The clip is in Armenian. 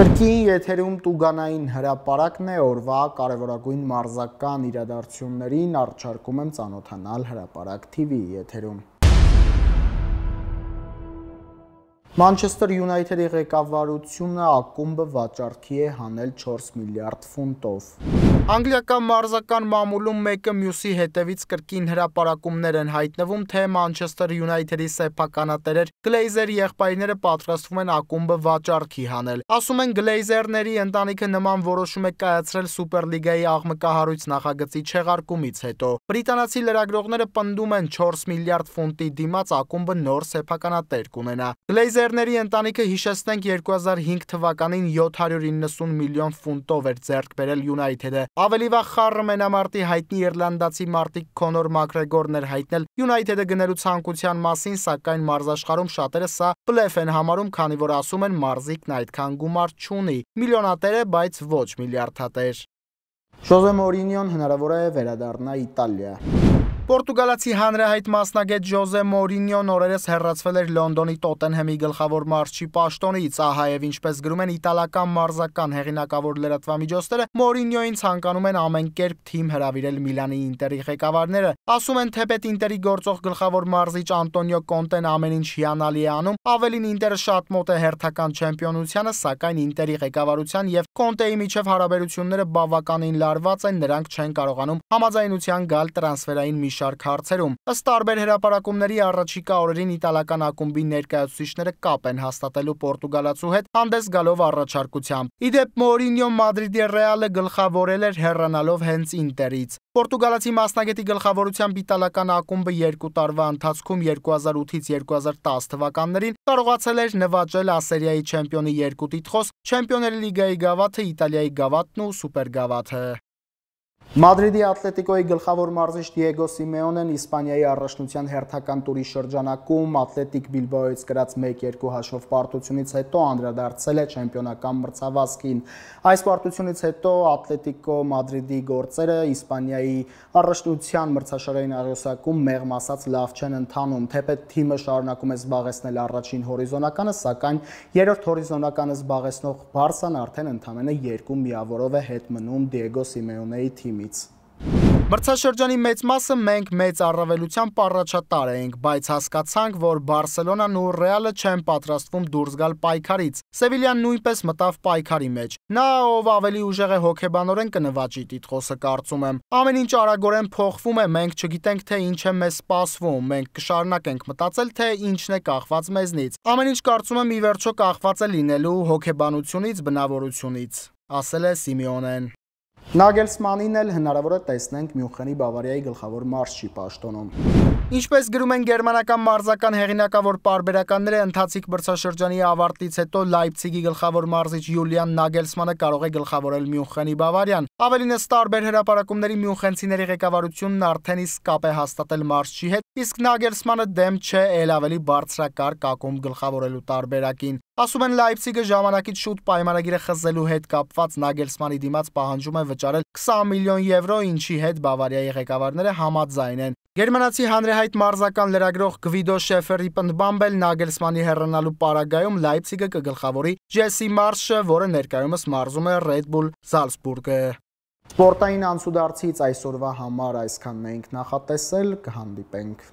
Կրկին եթերում տուգանային հրապարակն է, օրվա կարևորագույն մարզական իրադարձություններին առաջարկում եմ ծանոթանալ Հրապարակ TV-ի եթերում։ Մանչեսթեր Յունայթեդի ղեկավարությունը ակումբը վաճառքի է հանել 4 միլիարդ ֆունտով։ Անգլիական մարզական մամուլում մեկը մյուսի հետևից կրկին հրապարակումներ են հայտնվում, թե Մանչեսթեր Յունայթեդի սեփականատերեր Գլեյզերի եղբայրները պատրաստվում են ակումբը վաճառքի հանել։ Ասում են Գլեյզերների ընտանիքը նման որոշում է կայացրել Սուպերլիգայի աղմկահարույց նախագծի չեղարկումից հետո։ Բրիտանացի լրագրողները պնդում են 4 միլիարդ ֆունտի դիմաց ակումբը նոր սեփականատեր կունենա։ Գլեյզերների ընտանիքը, հիշեցնենք, 2005 թվականին 790 միլիոն ֆունտով էր ձեռք բերել Յունայթեդը։ Ավելի վաղ խառը մենամարտի հայտնի իռլանդացի մարտիկ Քոնոր Մակգրեգորն էր հայտնել Յունայթեդը գնելու ցանկության մասին, սակայն մարզաշխարհում շատերը սա բլեֆ են համարում, քանի որ ասում են մարզիկն այդքան գումար չունի։ Միլիոնատեր է, բայց ոչ միլիարդատեր։ Ժոզե Մորինյոն հնարավոր է վերադառնա Իտալիա։ Պորտուգալացի հանրահայտ մասնագետ Ժոզե Մորինյոն օրերս հեռացվել էր Լոնդոնի Տոտենհեմի գլխավոր մարզչի պաշտոնից, ահայև ինչպես գրում են իտալական մարզական հեղինակավոր լրատվամիջոցները, Մորինյոին ցանկանում են ամեն կերպ թիմ հրավիրել Միլանի Ինտերի ղեկավարները։ Ասում են, թեպետ Ինտերի գործող գլխավոր մարզիչ Անտոնիո Կոնտեն ամեն ինչ հիանալի է անում, ավելին Ինտերը շատ մոտ է հերթական չեմպիոնությանը, սակայն Ինտերի ղեկավարության եւ Կոնտեի միջև հարաբերությունները բավականին լարված են, նրանք չեն կարողանում համաձայնության գալ տրանսֆերային մի շարք հարցերում։ Ըստ տարբեր հրապարակումների առաջիկա օրերին իտալական ակումբի ներկայացուցիչները կապ են հաստատելու պորտուգալացու հետ, հանդես գալով առաջարկությամբ։ Ի դեպ, Մորինյոն Մադրիդի Ռեալը գլխավորել էր հեռանալով հենց Ինտերից։ Պորտուգալացի մասնագետի գլխավորությամբ իտալական ակումբը 2 տարվա ընթացքում 2008-ից 2010 թվականներին կարողացել էր նվաճել Ասերիայի չեմպիոնի 2 տիտղոս, Չեմպիոնների լիգայի գավաթը, Իտալիայի գավաթն ու սուպերգավաթը։ Մադրիդի Ատլետիկոյի գլխավոր մարզիչ Դիեգո Սիմեոնեն Իսպանիայի առաջնության հերթական տուրի շրջանակում Ատլետիկ Բիլբաոյից կրած 1-2 հաշվով պարտությունից հետո անդրադարձել է չեմպիոնական մրցավազքին։ Այս պարտությունից հետո Ատլետիկո Մադրիդի գործերը Իսպանիայի առաջնության մրցաշարային աղյուսակում մեղմ ասած լավ չեն ընթանում, թեպետ թիմը շարունակում է զբաղեցնել առաջին հորիզոնականը, սակայն երրորդ հորիզոնականը զբաղեցնող Բարսան արդեն ընդամենը 2 միավորով է հետ մնում Դիեգո Սիմեոնեի թիմից։ Մրցաշրջանի մեծ մասը մենք մեծ առավելությամբ առաջատար էինք, բայց հասկացանք, որ Բարսելոնան ու Ռեալը չեն պատրաստվում դուրս գալ պայքարից։ Սևիլյան նույնպես մտավ պայքարի մեջ։ Նա, ով ավելի ուժեղ է հոգեբանորեն, կնվաճի տիտղոսը, կարծում եմ։ Ամեն ինչ արագորեն փոխվում է, մենք չգիտենք, թե ինչ է մեզ սպասվում, մենք կշարունակենք մտածել, թե ինչն է կախված մեզնից։ Ամեն ինչ, կարծում եմ, ի վերջո կախված է լինելու հոգեբանությունից, բնավորությունից, ասել է Սիմեոնեն։ Նագելսմանին էլ հնարավոր է տեսնենք Մյունխենի Բավարիայի գլխավոր մարզչի պաշտոնում։ Ինչպես գրում են գերմանական մարզական հեղինակավոր պարբերականները, ընթացիկ մրցաշրջանի ավարտից հետո Լայպցիգի գլխավոր մարզիչ Յուլիան Նագելսմանը կարող է գլխավորել Մյունխենի Բավարիան։ Ավելին, ըստ տարբեր հրապարակումների, մյունխենցիների ղեկավարությունն արդեն իսկ կապ է հաստատել մարզչի հետ, իսկ Նագելսմանը դեմ չէ էլ ավելի բարձրակարգ ակումբ գլխավորելու տարբերակին։ Ասում են, Լայպցիգը ժամանակից շուտ պայմանագիրը խզելու հետ կապված Նագելսմանի դիմաց պահանջում է վճարել 20 միլիոն եվրո, ինչի հետ Բավարիայի ղեկավարները համաձայն են։ Գերմանացի հանրահայտ մարզական լրագրող Գվիդո Շեֆերի պնդմամբ էլ Նագելսմանի հեռանալու պարագայում Լայպցիգը կգլխավորի Ջեսի Մարշը, որը ներկայումս մարզում է Red Bull Salzburg-ը։ Սպորտային անցուդարձից այսօրվա համար այսքանն էինք նախատեսել, կհանդիպենք։